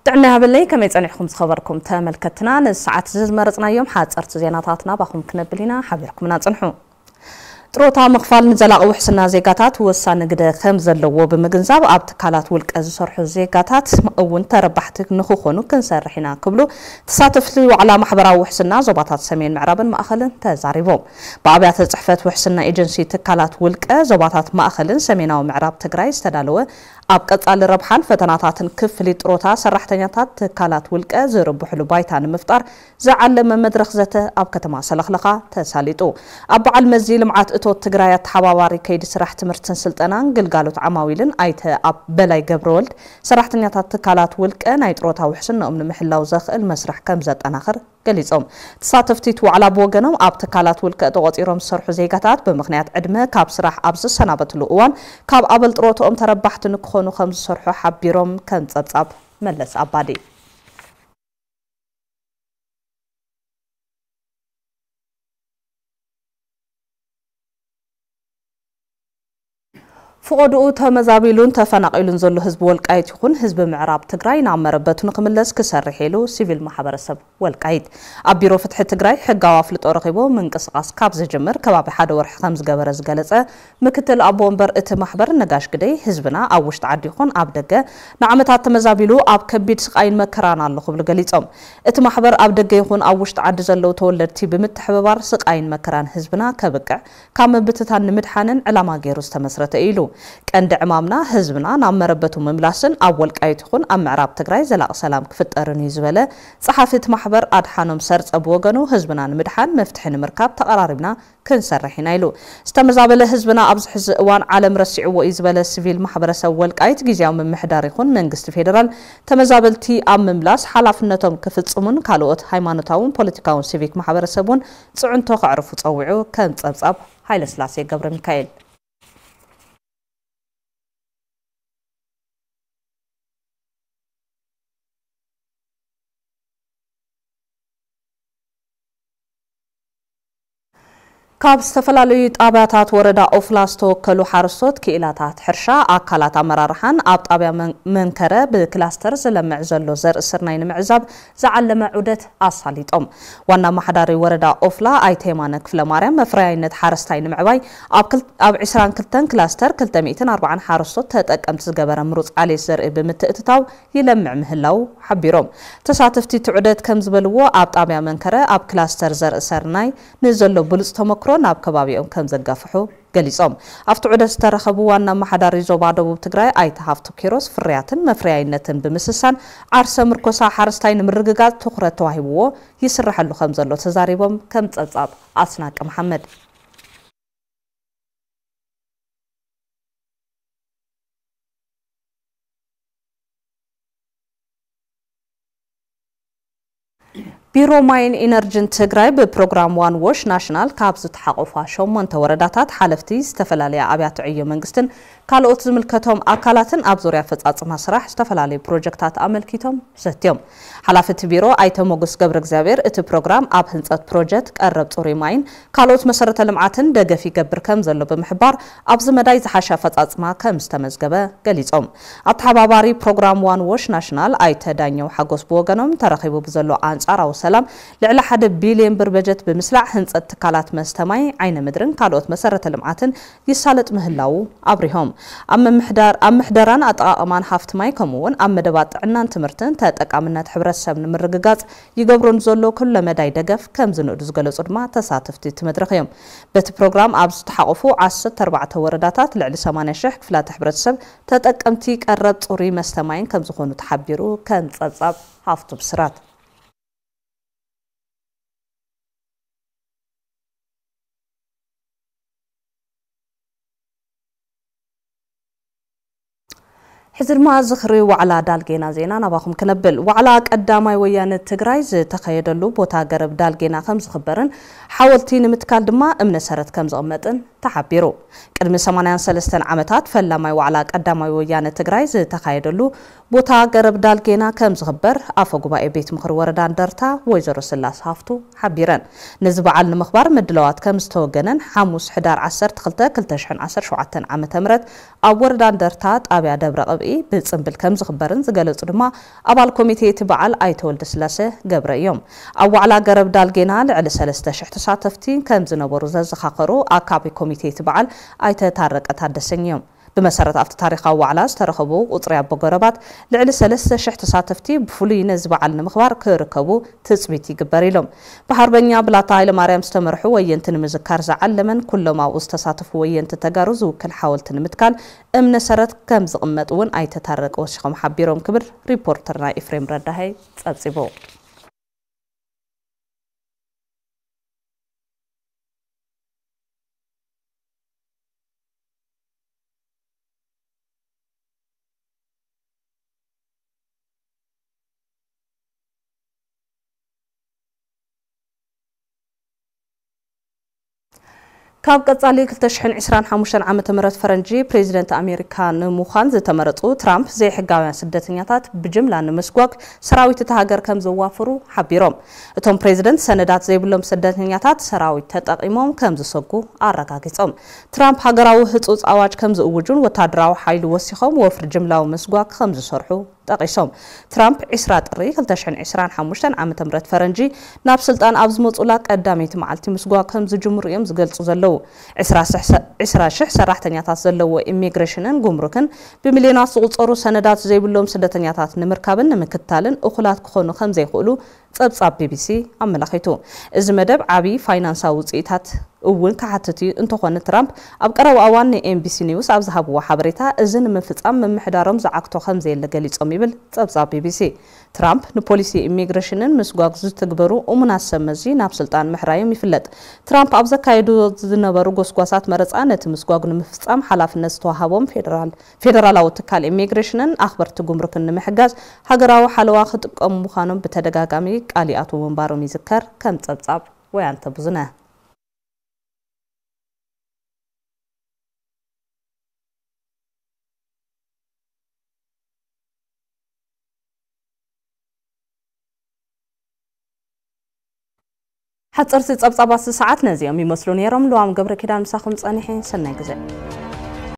ጥዕና ይሃበለይ፣ ከመይ ጸኒሕኩም ዝኸበርኩም ተመልከትና? ንሰዓት ዝመረጽናዮም ሓጸርቲ ዜናታት ናባኹም ክነብል ኢና፣ ሓቢርኩምና ጽንሑ። ጥሮታ ምኽፋል ንዘላቒ ውሕስና ዜጋታት ወሳኒ ግደ ከም ዘለዎ ብምግንዛብ፣ ኣብ ትካላት ውልቀ ዝሰርሑ ዜጋታት እውን ተረባሕቲ ንኽኾኑ ክንሰርሕ ኢና ክብሉ ተሳተፍቲ ዋዕላ ማሕበራዊ ውሕስና ዞባታት ሰሜን ምዕራብን ማእኸልን ተዛሪቦም። ብኣብያተ ጽሕፈት ውሕስና ኤጀንሲ ትካላት ውልቀ ዞባታት ማእኸልን ሰሜናዊ ምዕራብ ትግራይ ዝተዳለወ ኣብ ቀጻሊ ረብሓን ፈተናታትን ክፍሊት ጥሮታ ሰራሕተኛታት ትካላት ውልቀ ዝርብሕሉ ባይታ ንምፍጣር ዝዓለመ መድረኽ ዘተ ኣብ ከተማ ሰለኽለኻ ተሳሊጡ። ኣብ በዓል መዚ ልምዓት እቶት ትግራይ ኣተሓባባሪ ከይዲ ስራሕ ትምህርትን ስልጠናን ግልጋሎት ዓማዊልን ኣይተ ኣብ በላይ ገብረወልድ፣ ሰራሕተኛታት ትካላት ውልቀ ናይ ጥሮታ ውሕስንኦም ንምሕላው ዘኽእል መስርሕ ከም ዘጠናኽር ገሊጾም። ተሳተፍቲ እቲ ዋዕላ ብወገኖም፣ ኣብ ትካላት ውልቀ ተቖጺሮም ዝሰርሑ ዜጋታት ብምኽንያት ዕድመ ካብ ስራሕ ኣብ ዝሰናበትሉ እዋን ካብ ኣበል ጥሮትኦም ተረባሕቲ ንክኾኑ ከም ዝሰርሑ ሓቢሮም። ከም ጸብጻብ መለስ ኣባዲ። ፍቖድኡ ተመዛቢሉን ተፈናቒሉን ዘሎ ህዝቢ ወልቃይት ይኹን ህዝቢ ምዕራብ ትግራይ ናብ መረበቱ ንክምለስ ክሰርሕ ኢሉ ሲቪል ማሕበረሰብ ወልቃይት። ኣብ ቢሮ ፍትሒ ትግራይ ሕጋዊ ኣፍልጦ ረኺቡ ምንቅስቓስ ካብ ዝጅምር ከባቢ ሓደ ወርሒ ከም ዝገበረ ዝገለጸ ምክትል ኣቦ ወንበር እቲ ማሕበር ነጋሽ ግደይ፣ ህዝብና ኣብ ውሽጢ ዓዲ ይኹን ኣብ ደገ ንዓመታት ተመዛቢሉ ኣብ ከቢድ ስቓይን መከራን ኣሎ ክብሉ ገሊጾም። እቲ ማሕበር ኣብ ደገ ይኹን ኣብ ውሽጢ ዓዲ ዘለዉ ተወለድቲ ብምትሕብባር ስቓይን መከራን ህዝብና ከብቅዕ ካብ ምብትታን ንምድሓንን ዕላማ ገይሩ ዝተመስረተ እዩ ኢሉ። ቀንዲ ዕማምና ህዝብና ናብ መረበቱ ምምላስን ኣብ ወልቃይት ይኹን ኣብ ምዕራብ ትግራይ ዘላቒ ሰላም ክፍጠርን እዩ ዝበለ ጸሓፊ እቲ ማሕበር ኣድሓኖም ሰርጸ ብወገኑ፣ ህዝብና ንምድሓን መፍትሒ ንምርካብ ተቐራሪብና ክንሰርሕ ኢና ኢሉ። ዝተመዛበለ ህዝብና ኣብዚ ሕዚ እዋን ዓለም ረሲዕዎ እዩ ዝበለ ሲቪል ማሕበረሰብ ወልቃይት፣ ግዝያዊ ምምሕዳር ይኹን መንግስቲ ፌደራል ተመዛበልቲ ኣብ ምምላስ ሓላፍነቶም ክፍጽሙን ካልኦት ሃይማኖታውን ፖለቲካውን ሲቪክ ማሕበረሰብ እውን ጽዕንቶ ከዕርፉ ጸዊዑ። ከም ጸብጻብ ሃይለስላሴ ገብረ ሚካኤል። ካብ ዝተፈላለዩ ጣብያታት ወረዳ ኦፍላ ዝተወከሉ ሓረስቶት፣ ክኢላታት ሕርሻ፣ ኣካላት ኣመራርሓን ኣብ ጣብያ መን-፣ መንከረ ብክላስተር ዝለምዕ ዘሎ ዘርኢ ስርናይ ንምዕዛብ ዝዓለመ ዑደት ኣሳሊጦም። ዋና ኣመሓዳሪ ወረዳ ኦፍላ ኣይተ የማነ ክፍለ ማርያም፣ መፍረያይነት ሓረስታይ ንምዕባይ ኣብ ክል-፣ ኣብ ዕስራን ክልተን ክላስተር ክልተ ሚእትን ኣርባዓን ሓረስቶት ተጠቀምቲ ዝገበረ ምሩፅ ዓሌት ዘርኢ ብምትእትታው ይለምዕ ምህላው ሓቢሮም። ተሳተፍቲ እቲ ዑደት ከም ዝበልዎ፣ ኣብ ጣብያ መንከረ ኣብ ክላስተር ዘርኢ ሰርናይ ንዘሎ ብሉፅ ተመክሮ ናብ ከባቢኦም ከም ዘጋፍሑ ገሊጾም። ኣብቲ ዑደት ዝተረኸቡ ዋና ኣመሓዳሪ ዞባ ደቡብ ትግራይ ኣይተ ሃፍቱ ኪሮስ፣ ፍርያትን መፍረያይነትን ብምስሳን ዓርሰ ምርኮሳ ሓረስታይ ንምርግጋጽ ትኹረት ተዋሂብዎ ይስረሐሉ ከም ዘሎ ተዛሪቦም። ከም ጸብጻብ ኣስናቀ መሓመድ። ቢሮ ማይን ኢነርጂን ትግራይ ብፕሮግራም ዋን ዎሽ ናሽናል ካብ ዝተሓቆፋ ሸሞንተ ወረዳታት ሓለፍቲ ዝተፈላለያ ኣብያተ ዕዮ መንግስትን ካልኦት ዝምልከቶም ኣካላትን ኣብ ዙርያ ኣፈጻጽማ ስራሕ ዝተፈላለዩ ፕሮጀክታት ኣመልኪቶም ዘትዮም። ሓላፊ እቲ ቢሮ ኣይተ ሞገስ ገብረ እግዚኣብሔር፣ እቲ ፕሮግራም ኣብ ህንጸት ፕሮጀክት ቀረብ ጽሩይ ማይን ካልኦት መሰረተ ልምዓትን ደገፍ ይገብር ከም ዘሎ ብምሕባር፣ ኣብዚ መዳይ ዝሓሸ ኣፈጻጽማ ከም ዝተመዝገበ ገሊጾም። ኣተሓባባሪ ፕሮግራም ዋን ዎሽ ናሽናል ኣይተ ዳኘው ሓጎስ ብወገኖም፣ ተረኺቡ ብዘሎ ኣንጻራዊ ሰላም ልዕሊ ሓደ ቢልዮን ብር በጀት ብምስላዕ ህንጸት ትካላት መስተ ማይ፣ ዓይነ ምድርን ካልኦት መሰረተ ልምዓትን ይሳለጥ ምህላዉ ኣብሪሆም። ኣብ ምምሕዳር-፣ ኣብ ምሕደራን ኣጠቓቕማን ሃፍቲ ማይ ከምኡ እውን ኣብ መደባት ጥዕናን ትምህርትን ተጠቃምነት ሕብረተሰብ ንምርግጋጽ ይገብሮ ንዘሎ ኩለ መዳይ ደገፍ ከም ዝንእዱ ዝገለጹ ድማ ተሳተፍቲ እቲ መድረኽ እዮም። በቲ ፕሮግራም ኣብ ዝተሓቆፉ ዓሰርተ ኣርባዕተ ወረዳታት ልዕሊ ሰማንያ ሽሕ ክፍላተ ሕብረተሰብ ተጠቀምቲ ቀረብ ጽሩይ መስተ ማይን ከም ዝኾኑ ተሓቢሩ። ከም ጸብጻብ ሃፍቱ ብስራት። ሕዚ ድማ ዝኽሪ ዋዕላ ዳልጌና ዜና ናባኹም ክነብል። ዋዕላ ቀዳማይ ወያነ ትግራይ ዝተኸየደሉ ቦታ ገረብ ዳልጌና ከም ዝኽበርን ሓወልቲ ንምትካል ድማ እምነ ሰረት ከም ዝቕመጥን ተሓቢሩ። ቅድሚ ሰማንያን ሰለስተን ዓመታት ፈላማይ ዋዕላ ቀዳማይ ወያነ ትግራይ ዝተኻየደሉ ቦታ ገረብ ዳልጌና ከም ዝኽበር ኣፈ ጉባኤ ቤት ምኽሪ ወረዳ እንደርታ ወይዘሮ ስላስ ሃፍቱ ሓቢረን። ነዚ በዓል ንምኽባር ምድላዋት ከም ዝተወገነን ሓሙስ ሕዳር ዓሰርተ ክልተ ክልተ ሽሕን ዓሰርተ ሸውዓተን ዓመተ ምህረት ኣብ ወረዳ እንደርታ ጣብያ ደብረ ቅብኢ ብፅምብል ከም ዝኽበርን ዝገለጹ ድማ ኣባል ኮሚቴ እቲ በዓል ኣይተ ወልደስላሴ ገብረ እዮም። ኣብ ዋዕላ ገረብ ዳልጌና ልዕሊ ሰለስተ ሽሕ ተሳተፍቲ ከም ዝነበሩ ዘዘኻኸሩ ኣካቢ ኮሚቴ እቲ በዓል ኣይተ ታረቀ ታደሰኝ እዮም። ብመሰረት ኣብቲ ታሪኻዊ ዋዕላ ዝተረኸቡ ቁፅሪ ኣቦ ገረባት ልዕሊ ሰለስተ ሽሕ ተሳተፍቲ ብፍሉይ ነዚ በዓል ንምኽባር ክርከቡ ትፅቢት ይግበር ኢሎም። ብሓርበኛ ብላታ ሃይለማርያም ዝተመርሑ ወየንቲ ንምዝካር ዝዓለመን ኩሎም ኣብኡ ዝተሳተፉ ወየንቲ ተጋሩ ዝውክል ሓወልቲ ንምትካል እምነ ሰረት ከም ዝቕመጥ እውን ኣይተ ታረቀ ወሲኾም ሓቢሮም ክብል ሪፖርተርና ኤፍሬም ረዳሃይ ጸብጺቡ። ካብ ቀጻሊ ክልተ ሽሕን ዕስራን ሓሙሽተን ዓመተ ምህረት ፈረንጂ ፕሬዚደንት ኣሜሪካ ንምዃን ዝተመረጹ ትራምፕ፣ ዘይሕጋውያን ስደተኛታት ብጅምላ ንምስጓግ ሰራዊት እታ ሃገር ከም ዘዋፍሩ ሓቢሮም። እቶም ፕሬዚደንት፣ ሰነዳት ዘይብሎም ስደተኛታት ሰራዊት ተጠቒሞም ከም ዝሰጉ ኣረጋጊጾም። ትራምፕ ሃገራዊ ህጹጽ ኣዋጅ ከም ዝእውጁን ወታደራዊ ሓይሊ ወሲኾም ወፍሪ ጅምላዊ ምስጓግ ከም ዝሰርሑ ጠቒሶም። ትራምፕ ዕስራ ጥሪ ክልተ ሽሕን ዕስራን ሓሙሽተን ዓመተ ምህረት ፈረንጂ ናብ ስልጣን ኣብ ዝመጹላ ቀዳመይቲ መዓልቲ ምስጓግ ከም ዝጅምሩ እዮም ዝገልጹ ዘለዉ። ዕስራ ሽሕ ሰ-፣ ዕስራ ሽሕ ሰራሕተኛታት ዘለዎ ኢሚግሬሽንን ጉምሩክን ብሚልዮናት ዝቑጸሩ ሰነዳት ዘይብሎም ስደተኛታት ንምርካብን ንምክትታልን እኹላት ክኾኑ ከም ዘይኽእሉ ጸብጻብ ቢቢሲ ኣመላኺቱ። እዚ መደብ ዓቢ ፋይናንሳዊ ውጽኢታት እውን ክሓትት እዩ። እንተኾነ ትራምፕ ኣብ ቀረባ እዋን ንኤንቢሲ ኒውስ ኣብ ዝሃብዎ ሓበሬታ፣ እዚ ንምፍጻም ምምሕዳሮም ዝዓግቶ ከም ዘየለ ገሊጾም ይብል ጸብጻብ ቢቢሲ። ትራምፕ ንፖሊሲ ኢሚግሬሽንን ምስጓግ ዝትግበሩ እሙናት ሰብ መዚ ናብ ስልጣን ምሕራዮም ይፍለጥ። ትራምፕ ኣብ ዘካየዱ ዝነበሩ ጎስጓሳት መረጻ፣ ነቲ ምስጓግ ንምፍጻም ሓላፍነት ዝተዋሃቦም ፌደራል፣ ፌደራላዊ ትካል ኢሚግሬሽንን ኣኽበርቲ ጉምሩክን ንምሕጋዝ ሃገራዊ ሓለዋ ክጥቀሙ ምዃኖም ብተደጋጋሚ ቃል ይኣትዉ ምንባሮም ይዝከር። ከም ጸብጻብ ወያንተ ብዙነ። ሓፀርቲ ፀብፃባት ሰዓት ነዚኦም ይመስሉ ነይሮም። ልዋም ገብረ ኪዳን ምሳኹም ፀኒሐ። ሰናይ ግዜ።